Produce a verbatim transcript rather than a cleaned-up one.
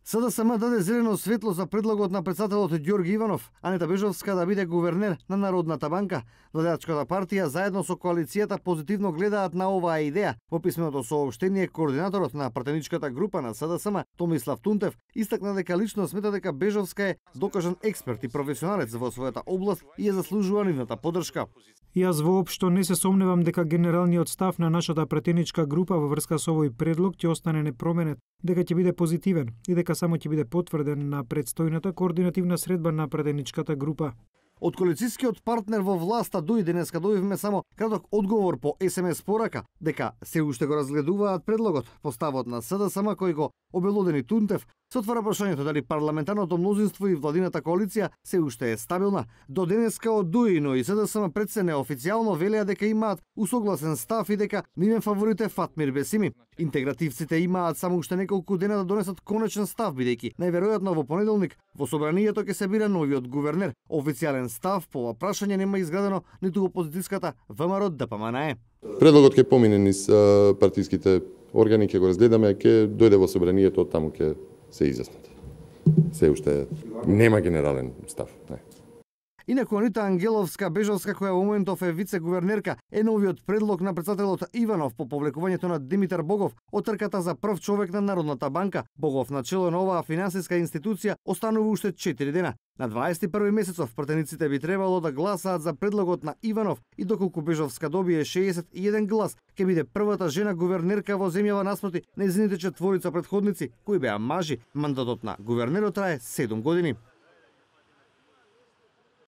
СДСМ даде зелено светло за предлогот на председателот Ѓорги Иванов, Анета Бежовска да биде гувернер на Народната банка. Владеачката партија заедно со коалицијата позитивно гледаат на оваа идеја. Во писменото соопштение координаторот на пратеничката група на СДСМ Томислав Тунтев истакна дека лично смета дека Бежовска е докажан експерт и професионалец во својата област и ја заслужува нивната поддршка. Јас воопшто не се сомневам дека генералниот став на нашата пратеничка група во врска со овој предлог ќе остане непроменет, дека ќе биде позитивен и дека само ќе биде потврден на предстојната координативна средба на пратеничката група. Од коалицијскиот партнер во власта дуи денеска добивме само краток одговор по ес ем ес порака дека се уште го разгледуваат предлогот. По ставот на СДСМ кој го обелодени Тунтев, се отвара прашањето дали парламентарното мнозинство и владината коалиција се уште е стабилна. До денеска од ДУИ, но и СДСМ пред се неофицијално велеа дека имаат усогласен став и дека нивен фаворит е Фатмир Бесими. Интегративците имаат само уште неколку дена да донесат конечен став, бидејќи најверојатно во понеделник во собранието ќе се бира новиот гувернер. Официјален став по ова прашање нема изградено ниту во опозицијската ВМРО Д П М Н Е. Предлогот ќе помине низ партиските органи, ќе го разгледаме, ќе дојде во собранието, таму ќе се изјаснат. Се уште нема генерален став. Не. Инаку Анита Ангеловска Бежовска, која во моментов е вице-гувернерка, е новиот предлог на председателот Иванов по повлекувањето на Димитар Богов од трката за прв човек на Народната банка. Богов на чело на оваа финансиска институција останува уште четири дена. На дваесет и први месецов пратениците би требало да гласаат за предлогот на Иванов и доколку Бежовска добие шеесет и еден глас, ќе биде првата жена гувернерка во земјава наспроти нејзините четворица претходници кои беа мажи. Мандатот на гувернерот трае седум години.